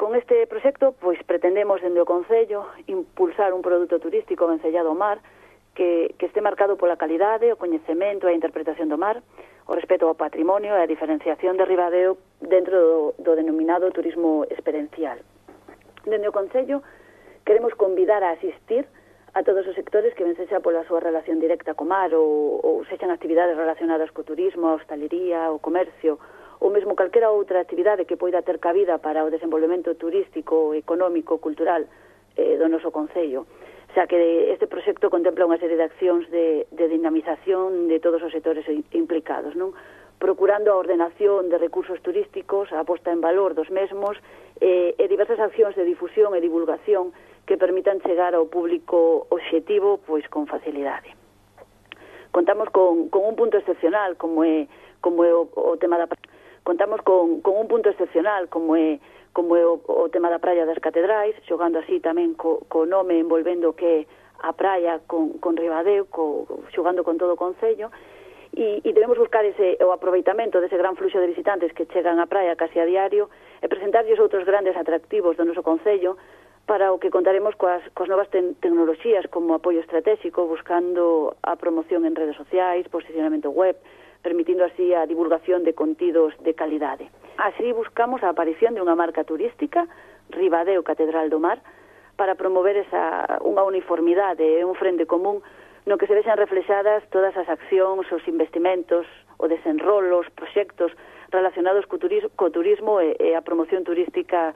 Con este proxecto, pois, pretendemos, dende o Concello, impulsar un produto turístico vencellado ao mar que este marcado pola calidade, o coñecemento e a interpretación do mar, o respeto ao patrimonio e a diferenciación de Ribadeo dentro do denominado turismo experiencial. Dende o Concello, queremos convidar a asistir a todos os sectores que ven sexa pola súa relación directa co mar ou sexan actividades relacionadas co turismo, a hostalería, o comercio, ou mesmo calquera outra actividade que poida ter cabida para o desenvolvemento turístico, económico, cultural do noso Concello. Xa que este proxecto contempla unha serie de accións de dinamización de todos os sectores implicados, non? Procurando a ordenación de recursos turísticos, a posta en valor dos mesmos e diversas accións de difusión e divulgación que permitan chegar ao público obxectivo pois con facilidade. Contamos con un punto excepcional como é o tema da Contamos con un punto excepcional como é o tema da Praia das Catedrais, xogando así tamén co nome envolvendo que a praia con Ribadeo, xogando con todo o Concello, e debemos buscar o aproveitamento dese gran fluxo de visitantes que chegan á praia casi a diario e presentarlles outros grandes atractivos do noso Concello, para o que contaremos coas novas tecnoloxías como apoio estratégico, buscando a promoción en redes sociais, posicionamento web, permitindo así a divulgación de contidos de calidade. Así buscamos a aparición de unha marca turística, Ribadeo Catedral do Mar, para promover unha uniformidade e un frente común no que se vexan reflexadas todas as accións, os investimentos, o desenrolo, os proxectos relacionados co turismo e a promoción turística